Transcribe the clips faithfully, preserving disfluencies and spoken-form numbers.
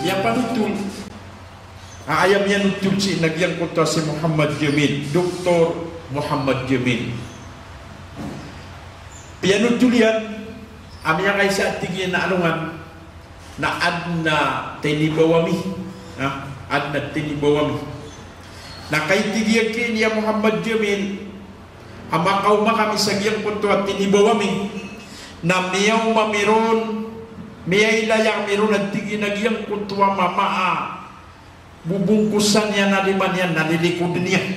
Iya panothol. A, aya miyanothol sii na giyangkoto a si Muhammad Jamil, Doktor Muhammad Jamil. Piyanothol iyan a miyakaisa a tig iyan a alongan na adn a tinibaw ami. Ha? Adn a tinibaw ami. Na kagiya tig iyan ki Muhammad Jamil, a makaoma kami sa giyangkoto a tinibaw ami, na miyaoma ami ron, miyailay ami ron a tig iyan a giyangkoto a mama a bobongkosan iyan a lima niyan na lilikod niyan.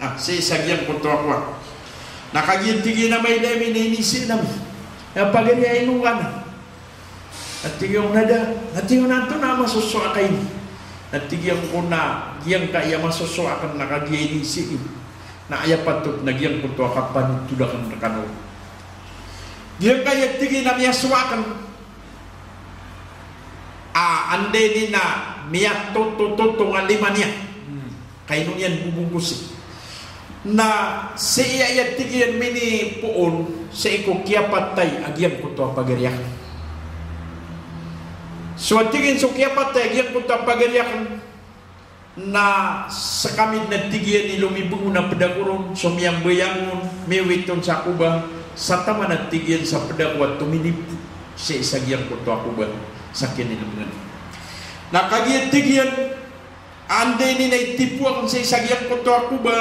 A, sii sa giyangkoto a kowan. Na kagiya tig iyan a mailay ami na inisii ami. Na pagari a ino ngka na. Na tig iyan na da, na tig iyan antonaa a masosowa ka ini. Na tig iyan ko na giyangkaya masosowa akn na kagiya inisii. Na aya patot na giyangkoto a kapanothol akn rkano. Giyangkaya tig iyan a miyasowa akn. A, anda ini na miyatotototo nga lima niyan. Hmm. Ka ino niyan bobongkosi. Na sii aya tig iyan minipoon, sii ko kiyapatay a giyangkoto a pagari akn. So a tig iyan so kiyapatay a giyangkoto a pagari akn, na skami dn a tig iyan i lomibng on a pd ako ron, so miyambayang on, miwit on sa koba, sa taman a tig iyan sa pd ako a tominip sii sa giyangkoto a koba, sa kinilbngan. Na kagiya tig iyan, anda ini na itipo akn sii sa giyangkoto a koba,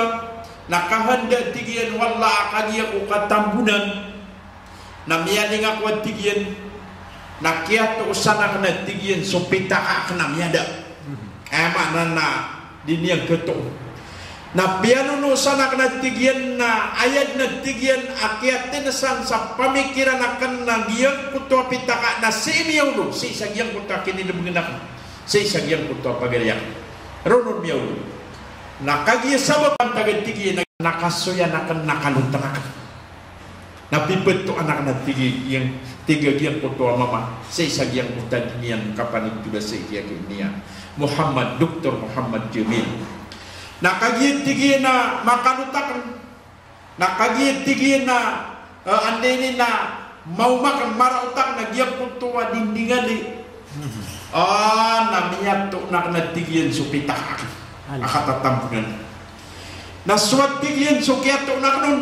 na kahanda tig iyan o Allah a kagiya ko katambonan, na miyaling ako a tig iyan, na kiyatosan akn a tig iyan so pitaka akn a miyada. Aya maana na di niyan katoon. Na piyanonosan akn a tig iyan na aya dn a tig iyan a kiyatnsan sa pamikiran akn na giyangkoto a pitaka na sii miyaolog, sii sa giyangkoto a kinilbngan akn, sii sa giyangkoto a pagari akn. Ron on miyaolog. Na kagiya sabap antag a tig iyan na kasoyan akn, na kalotn akn. Na piptoan akn a tig iyan, tig a giyangkoto a mama, sii sa giyangkoto a di niyan kapanothol a sii kiya ki niyan Muhammad, Doktor Muhammad Jamil. Na kagiya tig iyan na makalot akn, na kagiya tig iyan na, eh, anda ini na maoma akn, maraot akn a giyangkoto a dinding a di. A, na miyatoon akn a tig iyan so pitaka akn. A katatambonan. Na so a tig iyan so kiyatoon akn on.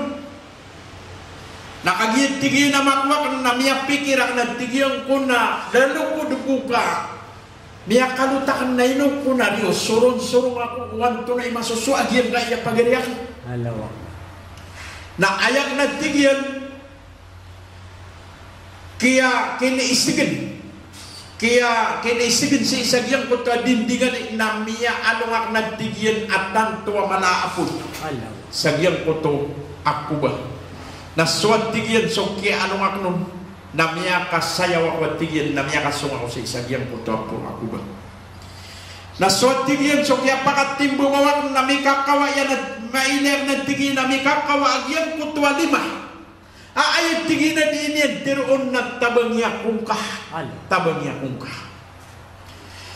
Na kagiya tig iyan a makowa akn na miyapikir akn a tig iyan ko na lalo ko dn ko ka. Miyakalot akn na ino ko na riyo, sorongsorong ako o antonaa i masosowa a giyangkaya pagari akn. Allahu Akbar. Na aya akn a tig iyan, kiya kiniisgn. Kiya kiniisgn sii sa giyangkoto a dinding a di na miyaalong akn a tig iyan a tanto a mala a polo. Allahu. Sa giyangkoto a koba. Na so a tig iyan so kiyaalong akn on, na miyakasayaw ako a tig iyan, na miyakasong ako sii sa giyangkoto a poro a koba. Na so a tig iyan so kiyapakatimbangaw akn na mikakawa iyan a, mailay akn a tig iyan a mikakawa a giyangkoto a lima. A, aya tig iyan a di niyan tharoon na tabangi ako ngka. Allahu. Tabangi ako ngka.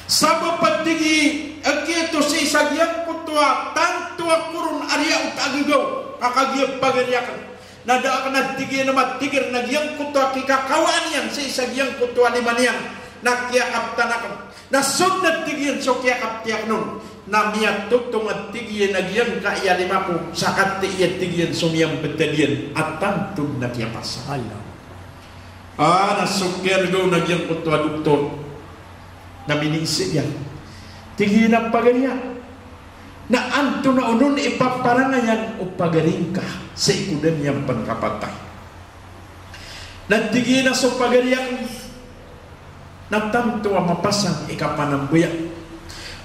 Sabap a tig iyan a kiyato sii sa giyangkoto a tanto a koron a riyaot a gagaw a kagiya pagari akn. Na da akn a tig iyan a matigr na giyangkoto a kikakawaan iyan sii sa giyangkoto a lima niyan na kiyakaptan akn. Na so dn a tig iyan so kiyakapti akn on na miyatotong a tig iyan a giyangkaya lima ko sa kati iya tig iyan so miyambtad iyan a tanto dn a kiyapasad. Allah. A, na so kiyargaw na giyangkoto a doktor na miniiza iyan. Tig iyan a pagari a, na antonaa on i paparangayan o pagari ngka sii ko da niyan pn kapatay? Na tig iyan a so pagari akn, na tanto a mapasang i kapanambaya.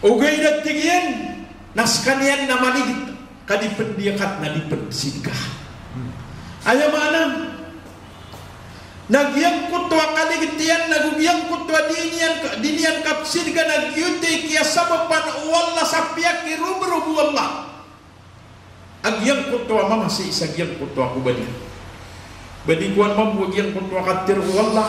Ogaid a tig iyan na skaniyan na maligit ka di pn diyakat na di pn sidka. Aya maana na giyangkoto a kaligit iyan, nago giyangkoto a di niyan, di niyan kapsidka na giyoto i kiyasabapan o Allah sa piyakirobrob o Allah a giyangkoto a mama sii sa giyangkoto a kobad iyan. Ba di kowan mambo a giyangkoto a katharo o Allah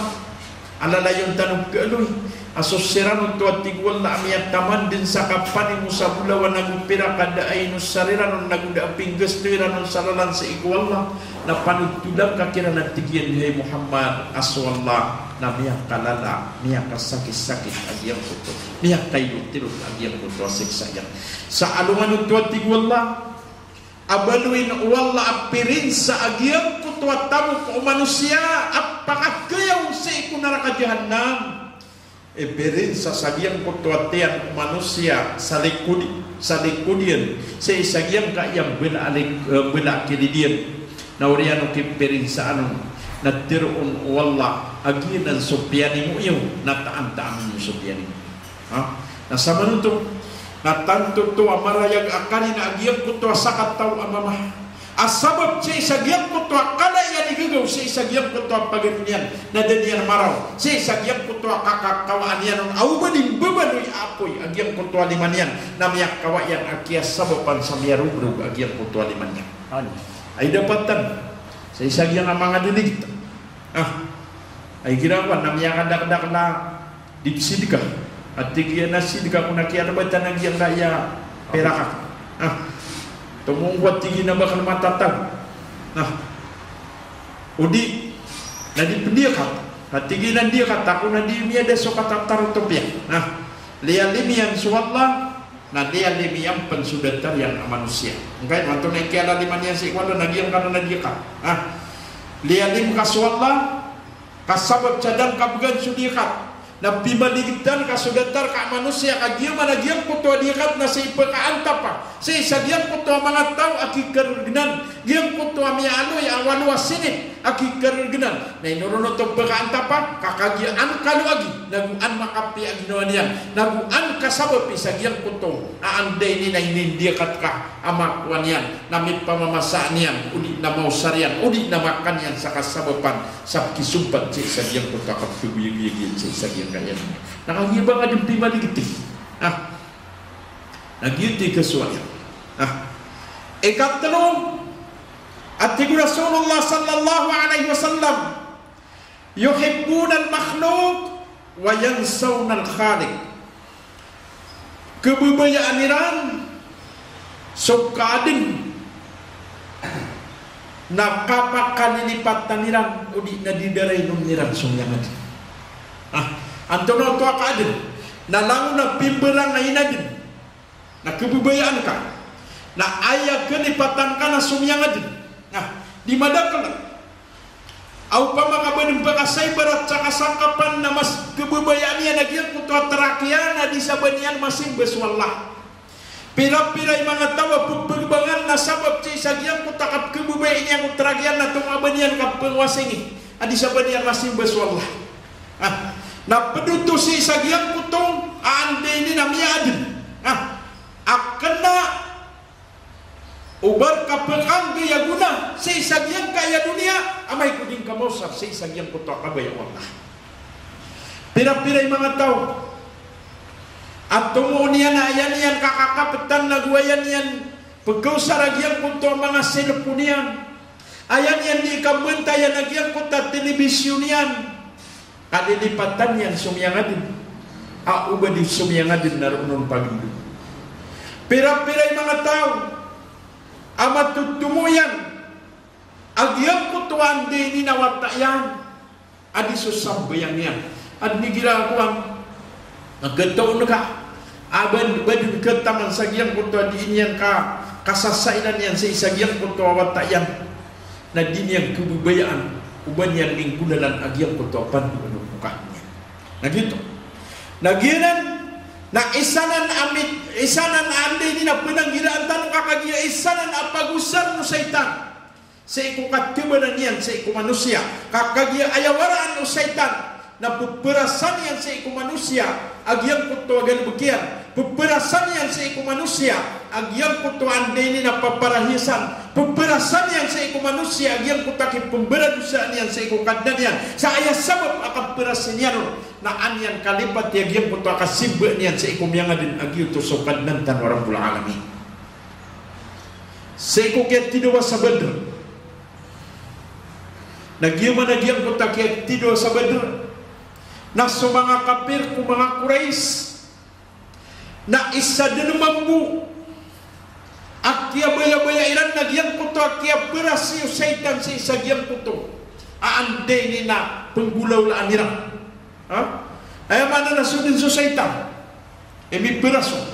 a lalayon tano pkhaaloy a so siran oto a tig o Allah a miyataman dn sa kapanimo sa bolawan ago pirak a da a inosar iran on ago da a pinggasto iran on sa lalan sii ko Allah, na panotolan ka kiran a tig iyan, hay Muhammad, a so Allah na miyakalala, miyakasakit-sakit a giyangkoto, miyakailotirot a giyangkoto a siksa iyan. Sa alongan oto a tig o Allah a baloyin o Allah a pirinsa a giyangkoto a tamok o manosiya a pakagayaw sii ko naraka Jahannam. Ipirinsa sa giyangkoto a tiyan o manosiya sa likod, sa likod iyan, sii sa giyangkaya mbala a lik-, eh, mbala a kilid iyan. Na oriyan o kipirinsaan on na tharoon o Allah a giyanan so piyanimo iyo, na taan-taan iyo so piyanimo. Ha? Na samanoto na tanto oto a marayag a karina a giyangkoto a sakataw a mama a sabap sii sa giyangkoto a kala iyan i gagaw sii sa giyangkoto a pagari niyan, na da niyan maraw sii sa giyangkoto a kakakawaan iyan on a oba di mbabaloy a apoy a giyangkoto a lima niyan, na miyakawa iyan a kiyasabapan sa miyarobrog a giyangkoto a lima niyan. Ay dapatan sii sa giyangkai a manga diligit. Ah, ay girawan na miyakadakdakl a di sidka. A tig iyan a sidka ko na kiyalbatan a giyangkaya pirak ako. Ah, tomo ko a tig iyan a ba kn matatago. Ah, o di na di pn diyakat. A tig iyan a diyakat ako na di miyada so katatarotop iyan. Ah, liyalim iyan so Allah, na liyalim iyan pn so datar iyan a manosiya. Angkaya antonaa i kiyalalima niyan sii ko Allah na giyangkanan a diyakat. Ah, liyalim ka so Allah, ka sabap sa da ngka bgan so diyakat na pimaligitan ka so datar ka a manosiya, ka giya man a giyangkoto a diyakat na sii pkaantapa sii sa giyangkoto a manga taw a kikargnan, giyangkoto a miyaaloy a walo a sinip a kikargnan. Na ino ron oto pkaantapa? Ka kagiya an ka loagi, nago an makapiya a ginawa niyan, nago an kasabapi sa giyangkoto a anda ini na inindiyakat ka a makowa niyan, na mipamamasaan iyan, o di na maosar iyan, o di na makan iyan sa kasabapan sa kisompat sii sa giyangkoto a kapkhagoyagoyag iyan sii sa giyangkaya. Na kagiya ba nga dn pimaligiti. Ah. Na giyoto i kasowa iyan. Ah. Ikatlo, a tig o Rasulullah sallallahu alaihi wasallam, "Yuhibbunal makhluq wa yansawnal khaliq." Khababayaan iran so kaadn, na kapakalilipatan iran, o di na di da rainon iran so miyangadn. Ah, antonaa oto a kaadn? Na langon a pimbarang a inadn na khababayaan ka, na aya kalipatan ka na so miyangadn. Na di madakl a opama ka ba dn pkasaibarat sa kasangkapan na mas khababayaan iyan a giyangkoto a trak iyan a di sa ba niyan masimba so Allah. Pira-pira i manga taw a pphagbangan na sabap sii sa giyangkoto a kapkhababayaan iyan ko trak iyan na tonga ba niyan kapphangowasing a di sa ba niyan masimba so Allah. Ah, na pd oto sii sa giyangkoto a anda ini na miyaadn. Ah, a kna o ba rka pkanggi a gona sii sa giyangkaya doniya, amay ko di ngka maosar sii sa giyangkoto a kabaya o Allah. Pira-pira i manga taw a tomo niyan a aya niyan kakakaptan nago aya niyan pkhaosar a giyangkoto a manga cellphone iyan, aya niyan di kambantaya na giyangkoto a telebisyon iyan, kalilipatan iyan so miyangadn. A oba di so miyangadn na roo on pagindod. Pira-pira i manga taw a matotomo iyan a giyangkoto a anda ini na wata iyan a di so sambayang iyan. Adn i girakowan a khatoon ka a ba dn, ba dn khataman sa giyangkoto a di niyan ka, kasasailan iyan sii sa giyangkoto a wata iyan, na di niyan khababayaan o ba niyan inggolalan a giyangkoto a pandoan o pokah niyan. Na giyoto. Na giyanan na isa nan a mit-, isa nan a anda ini na pnanggiraan tano ka kagiya isa nan a pagosar o shaytan sii ko katibanan iyan sii ko manosiya, ka kagiya aya waraan o shaytan Na ppharasan iyan sii ko manosiya a giyangkoto a galbk iyan. Ppharasan iyan sii ko manosiya a giyangkoto a anda ini na paparahiyasan. Ppharasan iyan sii ko manosiya a giyangkoto a kipmbaradosaan iyan sii ko Kadnan iyan. Sa aya sabap a kapharasi niyan on na an iyan kalipati a giyangkoto a kasimba niyan sii ko miyangadn a giyoto so Kadnan tano a Rabbul Alamin. Sii ko kiyatidawa sa Badr. Na giya man a giyangkoto a kiyatidawa sa Badr na so manga kapir ko manga Quraysh na isa dn mambo a kiyabayabaya iran na giyangkoto a kiyapharasi o shaytan sii sa giyangkoto a anda ini na pnggolawlaan iran. Ha? Aya maana na so dn so shaytan i mipharas on.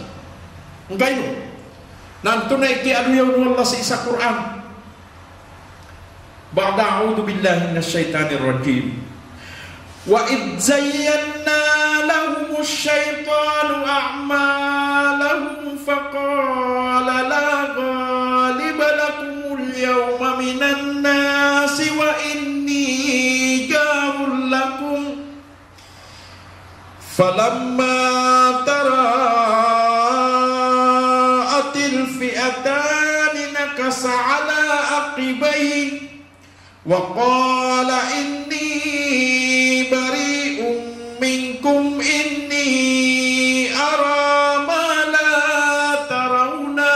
Ngkaino? Na antonaa i kiyaaloya on o Allah sii sa Qur'an? Ba'da a'udhu billahi minash shaytanir rajim. Wa idh zayyana lahumu shaytanu a'malahum faqala la ghaliba lakumul yawma minan nasi wa inni jarul lakum. Falamma tara'atil fi'atani nakasa ala aqibaihi wa qala inni bari'um minkum inni ara ma la tarawna.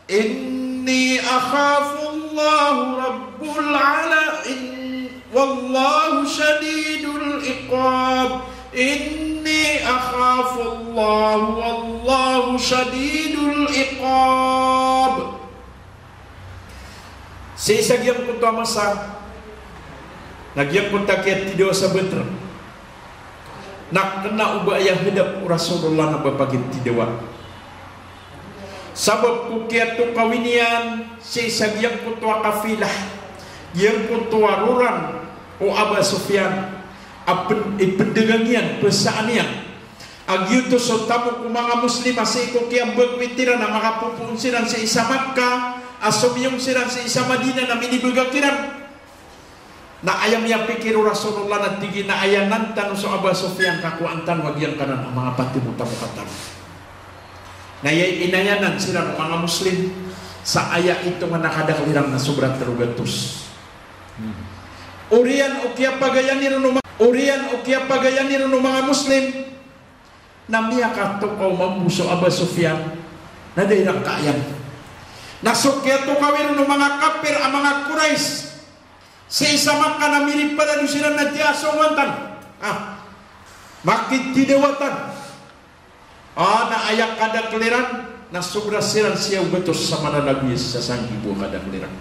Inni akhafu Allah rabbul ala-, in-, wallahu shadidul iqab. Inni akhafu Allah wallahu shadidul iqab. Sii sa giyangkoto a masa, na giyangkoto a kiyatidawa sa Badr. Na kna o ba aya hadap o Rasulullah na ba pagitidawa. Sabap ko kiyatokawi niyan sii sa giyangkoto a kafilah, giyangkoto a roran o Aba Sufyan, a pn-, ipndagang iyan, psaan iyan. A giyoto so tamok o manga Muslim a sii ko kiyambagwit iran a makapopoon siran sii sa Makkah, a somiyong siran sii sa Madinah na minibagak iran. Na aya miyapikir o Rasulullah na tig iyan a aya nan tano so Aba Sufyan ka kowaan tano a giyangkanan a manga pati bo tamoka tano. Na aya inayanan siran o manga Muslim sa aya itongan a kadakl iran na sobra tlo gatos. Oriyan o kiyapagayan iron o ma-, oriyan o kiyapagayan iron o manga Muslim. Na miyakatokaw mambo so Aba Sufyan, na da iran kaayan. Na so kiyatokawi ron o manga kapir a manga Quraysh sii sa Makkah na miriparados iran na tiyasongowan tano. Ah, makitidawa tano. Ah, na aya kadakl iran na sobra siran siyaw gatos sa maranagoya sii sa sanggibo a kadakl iran.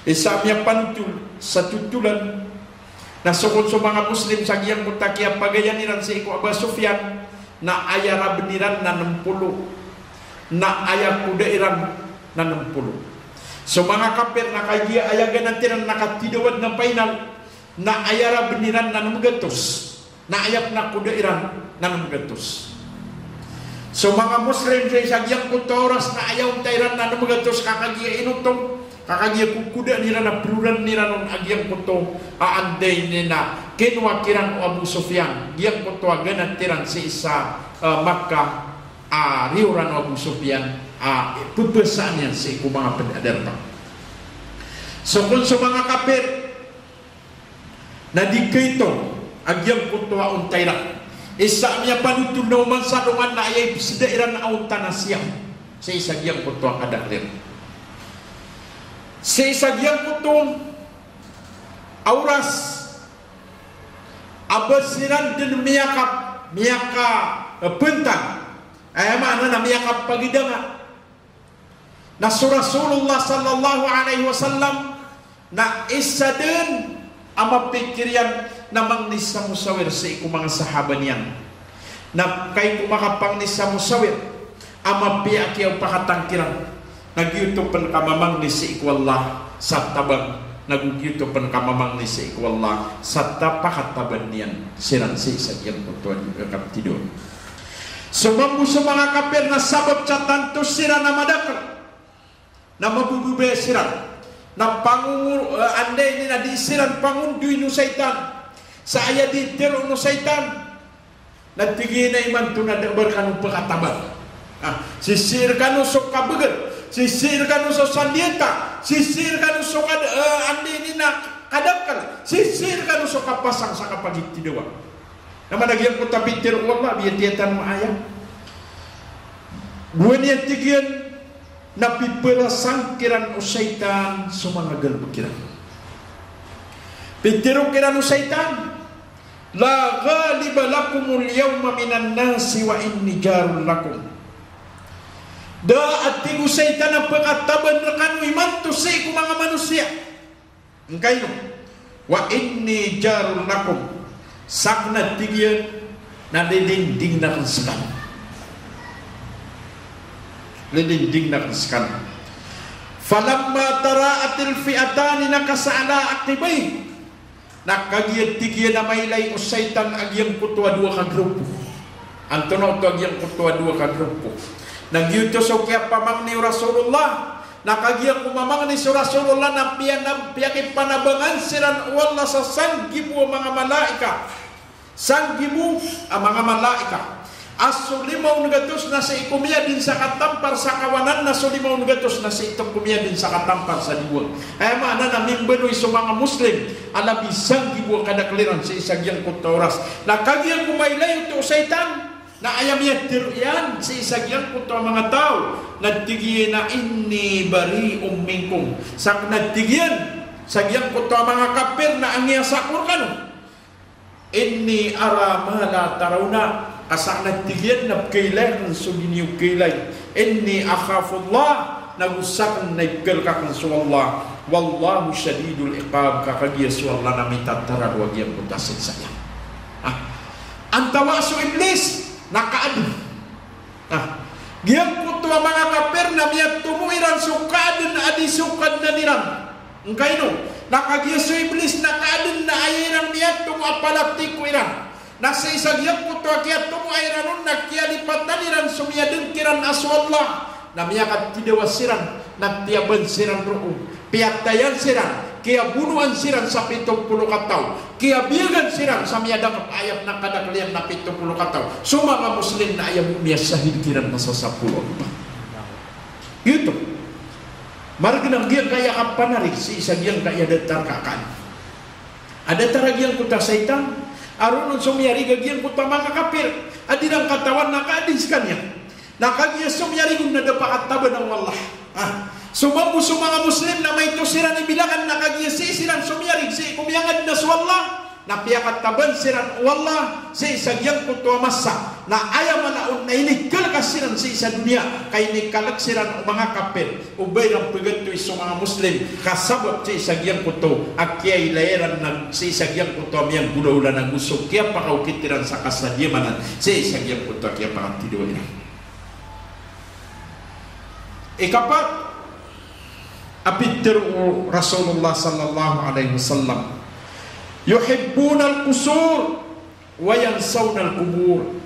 Isa a miyapanotol sa totolan na so kon so manga Muslim sa giyangkoto a kiyapagayan iran sii ko Aba Sufyan, na aya rabn iran na nm polo, na aya koda iran na nm polo. So manga kapir na kagiya aya ganat iran na katidawa dn a final, na aya rabn iran na nm gatos, na aya pn a koda iran na nm gatos. So manga Muslim sii sa giyangkoto a oras na aya onta iran na nm gatos ka kagiya inotong, ka kagiya kokodaan iran a proran iran on a giyangkoto a anda ini na kinowa kiran o Abu Sufyan, giyangkoto a ganat iran sii sa, eh, Makkah a riyoran o Abu Sufyan a pphasaan iyan sii ko manga pd a darpa. So kon so manga kapir na di kaito a giyangkoto a onta iran. Isa a miyapanotol na oman sa dongan na aya ipsda iran a onta na siyaw. Sii sa giyangkoto a kadakl iran. Sii sa giyangkoto a oras a ba siran dn miyaka-, miyaka-, eh, bntang. Aya maana na miyakapagidanga. Na so Rasulullah sallallahu alaihi wasallam na isa dn a mapikir iyan na mangni sa mosawir sii ko manga sahaba niyan. Na kagiya ko makapangni sa mosawir a mapiya a kiyaopakatan kiran, na giyoto pn ka mamangni sii ko Allah sa tabang, na go giyoto pn ka mamangni sii ko Allah sa ta-, pakataban iyan siran sii sa giyangkoto a kaptido. So mambo so manga kapir na sabap sa tanto siran a madakl na mabobobaya siran, na pangongo-, eh, anda ini na di siran pangondoin o shaytan Sa aya di tharoon o shaytan na tig iyan a imanto na da a ba rkano pkhataban. Ah, sisii rkano so kabagr, sisii rkano so sandiyata, sisii rkano so kad-, eh, anda ini na kadakl, sisii rkano so kapasang sa kapagitidawa. Na mana giyangkoto a pitharo o Allah, biyatiya tano a ayat. Gowani a tig iyan na piphrasang kiran o shaytan so manga galbk iran. Pitharo kiran o shaytan, "La ghaliba lakumul yawma minan nasi wa inni jarul lakum." Da a tig o shaytan a pkhataban rkano imanto sii ko manga manosiya. Angkaino? "Wa inni jarul lakum." Sakn a tig iyan na lilindingn akn skano. Lilindingn akn skano. Falamma tara'atil fi'atani nakasa ala aqibayhi. Na kagiya tig iyan a mailay o shaytan a giyangkoto a dowa ka grupo. Antonaa oto a giyangkoto a dowa ka grupo? Na giyoto so kiyapamangni o Rasulullah. Na kagiya ko mamangni so Rasulullah na piyanab-, piyakipanabangan siran o Allah sa sanggibo a manga malaikat. Sanggibo a manga malaikat. A so lima on gatos na sii ko miyadn sa katampar sa kawanan, na so lima on gatos na sii ko miyadn sa katampar sa diwang. Aya maana na mimbaloy so manga Muslim a labi sanggibo a kadakl iran sii sa giyangkoto a oras. Na kagiya ko mailay oto o shaytan, na aya miyatharo iyan sii sa giyangkoto a manga taw, na tig iyan a, "Inni bari'un minkum." Sakn a tig iyan sa giyangkoto a manga kapir na angiyasa ko rkano. "Inni ara ma la tarawna." Ka sakn a tig iyan na pkhailay akn so di niyo kailay. "Inni akhafullah." Na go sakn na ipkhalk akn so Allah. "Wallahu shadidul iqab." Ka kagiya so Allah na mitatararo a giyangkoto a siksa iyan. Ah. Antawaa so Iblis na kaadn. Ah. Giyangkoto a manga kapir na miyatomo iran so kaadn a di so Kadnan iran. Angkaino? Na kagiya so Iblis na kaadn na aya iran miyatomo a palatiko iran. Na sii sa giyangkoto a kiyatomoa iran on na kiyalipatan iran so miyadn kiran a so Allah. Na miyakatidawa siran, na tiyaban siran roo. Piyatayan siran, kiyabonoan siran sa pito polo kataw. Kiyabiyagan siran sa miyadakp a ayat na kadakl iyan na pito polo kataw. So manga Muslim na aya bo miyasahid kiran na sa sapolo a lopa. Giyoto. Margn a giyangkaya kapanarig sii sa giyangkaya datar ka kan. A datar a giyangkoto a shaytan, a roo on so miyarig a giyangkoto a manga kapir a di iran katawan na kaadn skaniyan. Na kagiya so miyarig on na da pakataban o Allah. Ah, so mambo so manga Muslim na maito siran i bilangan na kagiya sii siran so miyarig sii ko miyangadn a so Allah, na piyakataban siran o Allah sii sa giyangkoto a masa. Na aya mala on na inikalk siran sii sa doniya, ka inikalk siran o manga kapir. O ba iran pgatoy so manga Muslim, ka sabap sii sa giyangkoto a kiyailay iran na sii sa giyangkoto a miyanggolawla na go so kiyapakaokit iran sa kasadiyaman sii sa giyangkoto a kiyapakatidawa iran. Ikapat a pitharo o Rasulullah sallallahu alaihi wasallam, "Yuhibbunal qusur wa yansawnal qubur."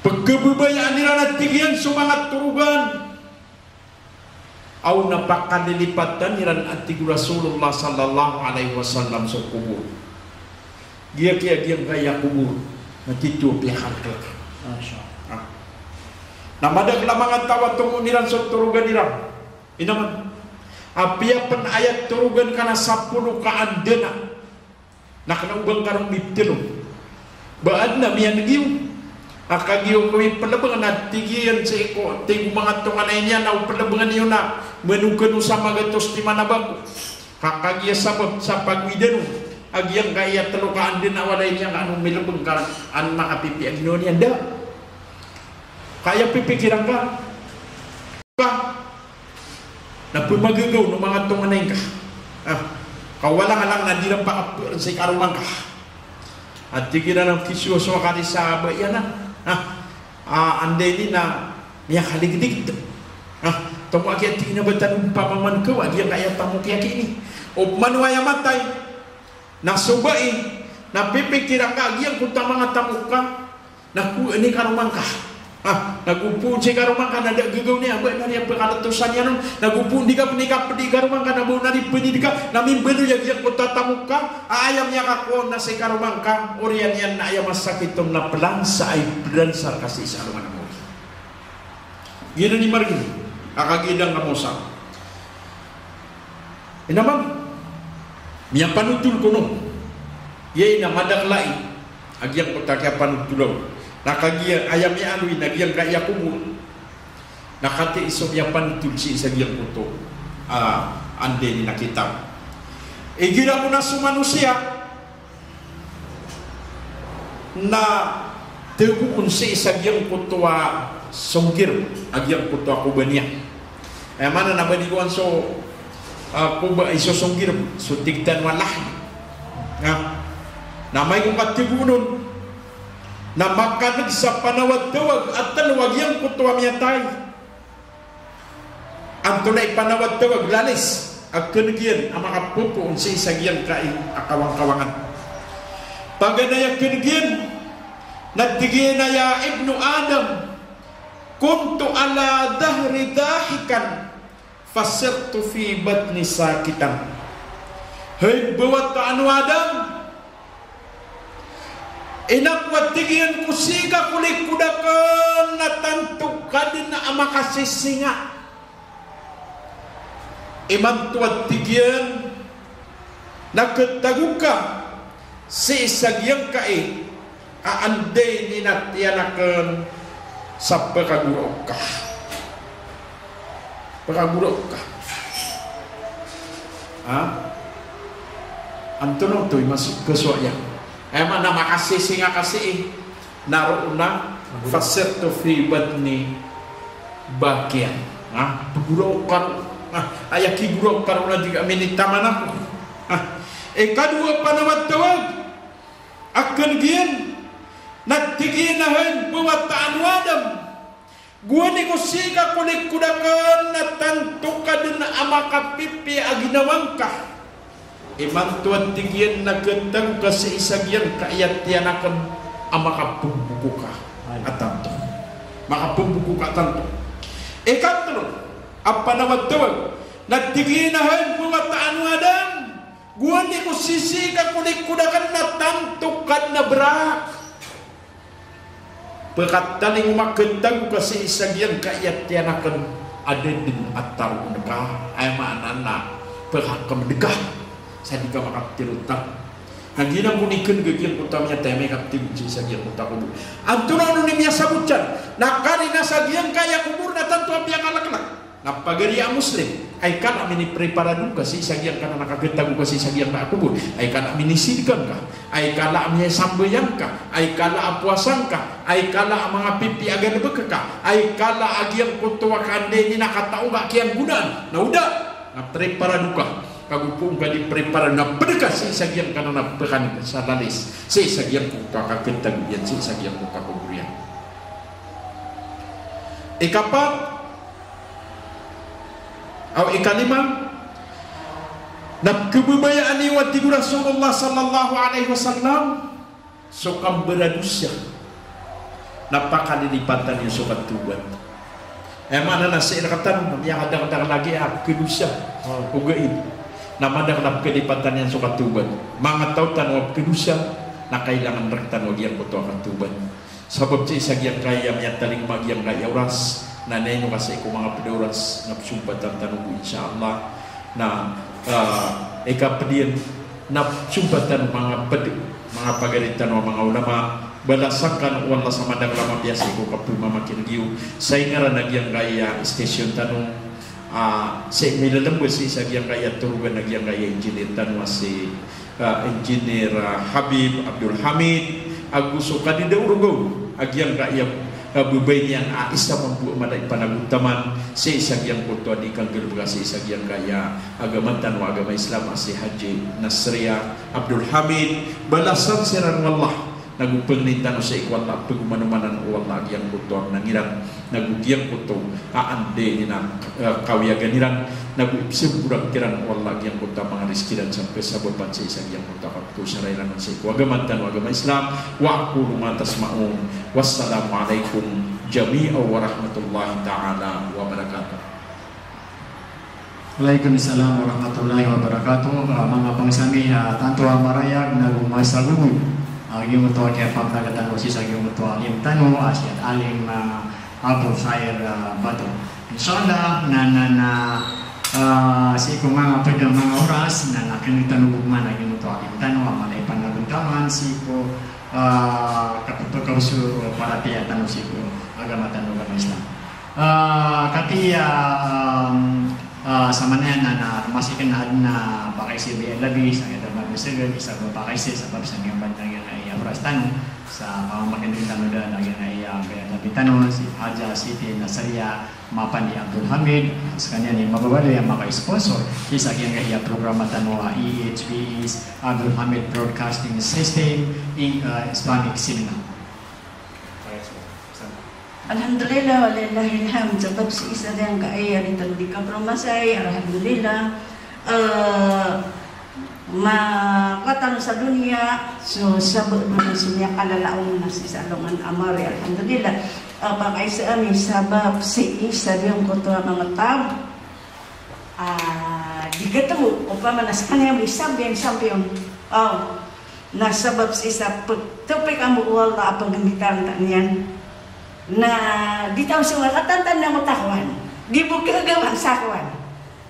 Pkhababayaan iran a tig iyan so manga torogan, aw na pakalilipatan iran a tig o Rasulullah sallallahu alaihi wasallam so kobor. Giya kiya giyangkaya kobor na tito piyakalklk. Masha Allah. Ah. Na madakl a manga taw a tomo iran so torogan iran. Inaman. Apiya pn aya torogan ka na sapolo ka andana. Na kna o ba ngka ron miptlo. Ba adn a miyaneg iyo a kagiya o kawi plbng na tig iyan sii ko, tig o manga tonganay niyan a o plbngan iyo na mano kano sa magatos timan a bangko. Ka kagiya sabap sa pagowidan on a giyangkaya tlo ka andana a walay niyan ka an o milbng ka an makapipiya a ginawa niyan da. Ka aya pipikiran ka. Ka na pmagagaw o manga tonganay ngka. Ah, ka walang-alang na di ran pakapr sii karoma ngka. A tig iran a kisowa so kari sa aba iyan a. Ah, ah, anda ini na miyakaligdgd. Ah, tomo aki a tig iyan a ba tano pamaman ka, wa giyangkaya tamok iyan ini. Opama o aya matay na so bai, na pipikiran ka a giyangkoto a manga tamok ka na kowaan i karoma ngka. Ah, nago phoon sii karoma ngka na da a gagaw niyan, ba na riya pkhalatosan iyan on. Nago phoon di ka pn ikapdi karoma ngka na ba na riya pn di ka, na mimbaloy a giyangkoto a tamok ka, a aya miyakakowa on na sii karoma ngka, oriyan iyan na aya masakit on na plansa ay plansa rka sii sa alongan a mawri. Giyanan i margn a kagiya da ngka mawsa. Ino man, miyapanotol kono. Aya ina madakl ai a giyangkoto a kiyapanotol aw. Na kagiya aya miyaaloy na giyangkaya kobor. Na katii so miyapanotol sii sa giyangkoto a, anda ini na kitab. Igira ko na so manosiya na tagoon sii sa giyangkoto a songgirb a giyangkoto a koba niyan. Aya maana na ba di kowan so, ah, koba, iso songgirb, so tig tano a lahi. Na, na amay ko katagoon on, na makaneg sa panawatawag a tlo a giyangkoto a miyatay. Antonaa i panawatawag, lalis a keneg iyan a makapopoon sii sa giyangkai a kawangkawangan. Paganay a keneg iyan na tig iyan a, "Ya ibnu Adam, kuntu ala dhahri dahikan, fasirtu fi batni sakitan." Hay mbawataan o Adam, ina ko a tig iyan ko sii ka ko likod aken na tanto ka den a makasisinga. Imanto a tig iyan na ketago ka sii sa giyangkai a anda ini na tiyan aken sa pekagoraok ka. Pekagoraok ka. Ha? Antonaa oto i mas-, kesowa iyan. Aya maana makasisinga ka sii. Na roo na, fasirtu fi batni bakiyan. Ha? Pegoraok ka roo. Ha? Aya kigoraok ka roo na di ka minitaman ako. Ha? Ikadowa a panawatawag a keneg iyan na tig iyan a hay mbawataan o Adam, gowani ko sii ka ko likod aken na tanto ka den a makapipiya a ginawa ngka. Imanto a tig iyan na ketago ka sii sa giyangkai a tiyan aken a makapemboko ka a tanto. Makapemboko ka a tanto. Ikatlo a panawatawag na tig iyan a hay mbawataan o Adam, gowani ko sii ka ko likod aken na tanto ka den a berak. Pekatalingoma, ketago ka sii sa giyangkai a tiyan aken a da den a taroon ka. Aya maana na pekakemedeg ka sa di ka makaptero tan. Na giyanan kon i keneg a giyangkoto a miyatay a miyakaptero sii sa giyangkoto a kobor. Antonaa on i miyasabot iyan? Na kari na sa giyangkai a kobor na tanto a piyakaleklek. Na pagari a Muslim, ay kala a minipreparado ka sii sa giyangkanan a kaketago ka sii sa giyangkai a kobor, ay kala a minisidka ngka, ay kala a miyasambayang ka, ay kala a powasa ngka, ay kala a manga pipiya a galebek ka, ay kala a giyangkoto a ka anda ini na katao ngka kiyanggonaan, na o da, na preparado ka, kago poon ka di preparado na ped ka sii sa giyangkanan a pekan sa lalis, sii sa giyangkoto a kaketago iyan, sii sa giyangkoto a kobor iyan. Ikapat, Aw ikalima, na kebebayaan iyo a tig o Rasulullah sallallahu alaihi wasallam, so kambaradosa na pakalilipatan iyo so katawbat. Aya maana na sii rektano na miyakadakdakl lagi a pekadosa. Ogaid na madakl a pakalilipatan iyan so katawbat. Manga taw tano a pekadosa na kailangan rektano a giyangkoto a katawbat. Sabap sii sa giyangkaya miyatalingoma giyangkaya oras, na ino ka sii ko manga ped a oras na pesompatan tano bo, insha Allah. Na, ah, ikaped iyan na pesompatan o manga ped, manga pagari tano a manga ulama. Balasan kano o Allah sa madakl a mapiya sii ko kapemamakineg iyo. Sa ingaran a giyangkaya station tano, ah, sii milalamba sii sa giyangkaya torogan a giyangkaya engineer tano a si ah, Engineer, ah, Habib Abdul Hamid, ago so kadida o rogo a giyangkaya, ah, babay niyan a isa mambo a mala i panagontaman sii sa giyangkoto a di kanggalebeka sii sa giyangkaya agama tano a agama Islam a si Haji Nasria Abdul Hamid. Balasan siran o Allah. Nago pengnin tano sii ko Allah, pegomanomanan o Allah a giyangkoto a mnang iran, nago giyangkoto a anda ini na, eh, kawiyagan iran, nago ipsemborak kiran o Allah a giyangkoto a manga rizki iran sa pesabapan sii sa giyangkoto a kapekosara iran sii ko agama tano a agama Islam. Wa aqulu ma tasma'un. Wassalamu alaikum Jami'an warahmatullahi ta'ala wabarakatuh. Waalaikumsalam warahmatullahi wabarakatuh. Ah, manga bangsa mi, ah, tanto a marayag nago masagogod, ah, giyoto a kiyapagtaga tano sii sa giyoto a alim tano, ah, si Alim, ah, Abu Khair, ah, Bato. Insha Allah, na, na, na, ah, sii ko manga pd a manga oras, na, na kna tano bo man a giyoto a alim tano, a mala i panagontaman sii ko, ah, kapphakaosor o paratiyaya tano sii ko agama tano, agama Islam. Ah, katii, ah, um, ah, sa manaya na, na, masi kna adn a pakaiza a biyalabi, sa kna adn a mabasagad, isa bo pakaiza, sabap sa niyan ban lagid a iya oras tano, sa pamamakineg tano da lagid a iya biyalabi tano, si Haja Siti Nasriya Mapandi Abdul Hamid, skaniyan i mababaloy a maka-sponsor sii sa giyangkaya programa tano a E H B S Abdul Hamid Broadcasting System in, ah, Islamic Seminar. Alhamdulillah, walillahil hamd. Sabap sii sa giyangkaya a di tano di kapromasay, alhamdulillah. Eh, ma-, katano sa doniya, so, sabap doniya, so miyakalalaw na sii sa alongan a mawri, alhamdulillah. Eh, pakaiza ami sabap sii sa giyangkoto a manga taw a di katomo, opama na skaniyan bo i champion, champion. Oh. Na sabap sii sa pagtopik ambo o Allah a paganditaan ta niyan. Na di taw so katantan na matakowan. Di bo kagawan sa kowan.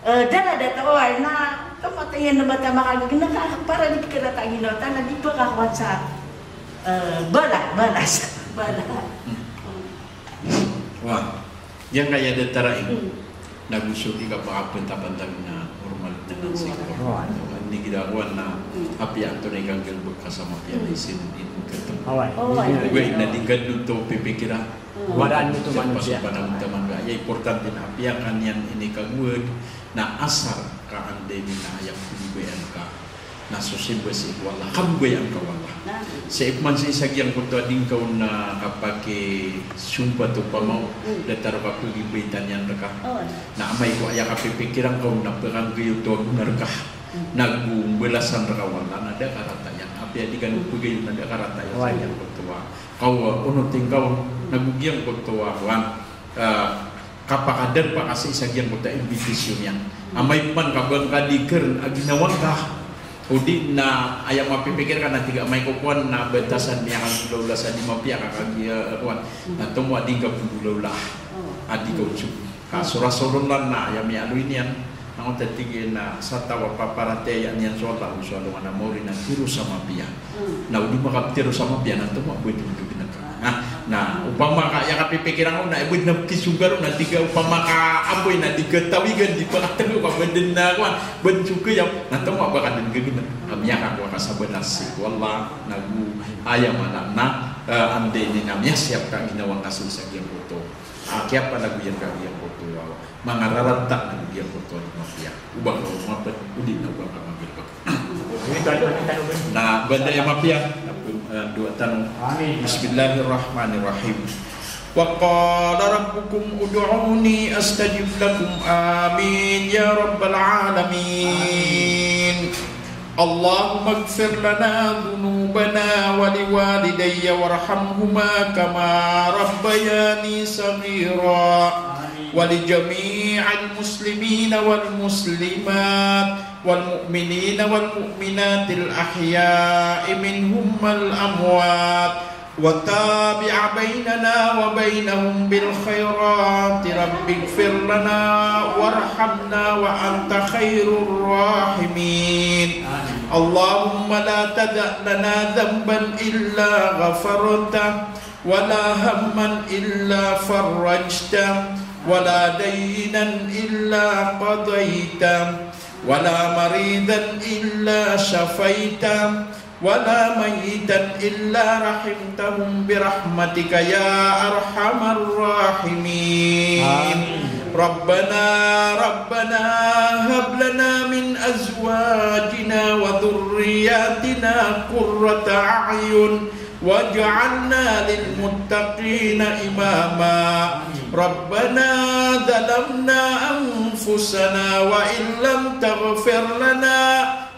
Eh, dala da taw ay na kamatay na ba ta makagagnk ka para di pkharata a ginawa ta na di pkakowan sa, eh, bala, bala sa, bala. Wa, giyangkaya datar a ino. Hmm. Nago so di kapakapantapantag na normal na Hmm. sii ko. Wa. Ini gida kowan na Hmm. apiya antonaa i kanggalbk ka sa mapiya na Hmm. isin in katomo. Wa. Wa. Ogaid na di ngka dn oto pipikiran. Hmm. Waraan oto manusiya. Sa panagontaman ka. Aya importante na apiya ka niyan inikagowad na asar ka anda i na aya pmbabayaan ka na so simba sii ko Allah, kababayaan ka o Allah. Na. Sii pman sii sa giyangkoto a di ngka on na kapakisompat opama o Mm. datar o kapagimbaytan iyan rka. Oh. Na amay ko aya kapipikiran ka on na pkanggayoto a gona rka. Mm. Nago mbalasan rka o Allah na da a karata iyan. Apiya di ka on pagayon na da a karata iyan. Wa. Sa giyangkoto a kaw, onoti ngka on, nago giyangkoto a kowan. Ah, kapakadarpa ka sii sa giyangkoto a imbitasyon iyan. Amay pman ka ba ngka di kharn a ginawa ngka, odi na aya mapipikir ka na tig a amay ko kowan na batasan iyan a golaola sa di mapiya ka kagiya, eh, kowan. Na tomo a di ngka pnggolaola. A di ka on so. Ka so Rasulullah na aya miyaaloy niyan. Na oto tig iyan na sa taw a paparatiyayaan iyan so Allah, so alongan a mawri na tharo sa mapiya. Hmm. Na o di makaptharo sa mapiya na tomo a ba di ngka ginawa. Na, na, opama ka, aya kapipikiran ko na, eh, ba di na kisonggar on na tig a opama ka apoy na di katawigan, di pakatlo ka, ba di na, kowan, ba di so kiyap, na tomo a ba ka dn gagana. Ka miyakakowa ka sa balas sii ko Allah, nago aya maana na, eh, anda ini na miyasiyap ka ginawa ngka sii sa giyangkoto. Ah, kiyapalagoyan ka giyangkoto a manga rarata na giyangkoto a di mapiya. O ba ngka mapd, odi na o ba ngka magalbk. Na banda aya mapiya, eh, doa tano. Amin. Bismillahirrahmanirrahim. Wa qala rabbukum ud'uni astajib lakum. Amin ya rabbal alamin. Allahumma ighfir lana dhunubana wa liwalidayya warhamhuma kama rabbayani saghira. Amin. Wa li jami'il muslimina wal muslimat wal mu'minina wal mu'minatil ahya'i minhum wal amwat. Wa tabi' baynana wa baynahum bil khairat. Rabbighfir lana warhamna wa anta khairur rahimin. Allahumma la tada' lana dhanban illa ghafartah, wa la hamman illa farrajtah, wa la daynan illa qadaytah, wa la maridan illa shafaytah, wa la mayyitan illa rahimtahum bi rahmatika ya arhamar rahimin. Amin. Rabbana, Rabbana, hab lana min azwajina wa dhurriyyatina qurrata a'yun waj'alna lil muttaqina imama. Amin. Rabbana zalamna anfusana wa in lam taghfir lana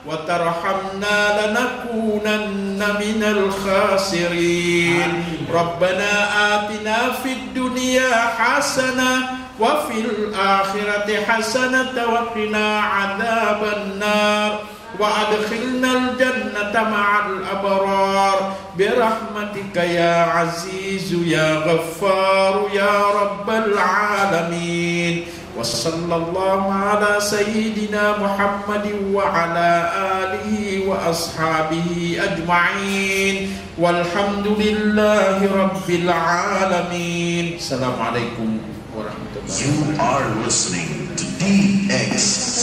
wa tarhamna lanakunanna minal khasirin. Amin. ربنا آتنا في الدنيا حسنة وفي الآخرة حسنة وقنا عذاب النار وأدخلنا الجنة مع الأبرار برحمتك يا عزيز يا غفار يا رب العالمين. وصلى الله على سيدنا محمد وعلى آله وأصحابه أجمعين. والحمد لله رب العالمين. السلام عليكم ورحمة الله. You are listening to D X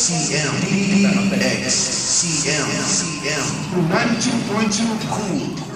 C M, D X C M, C M, ninety-two point two Cool.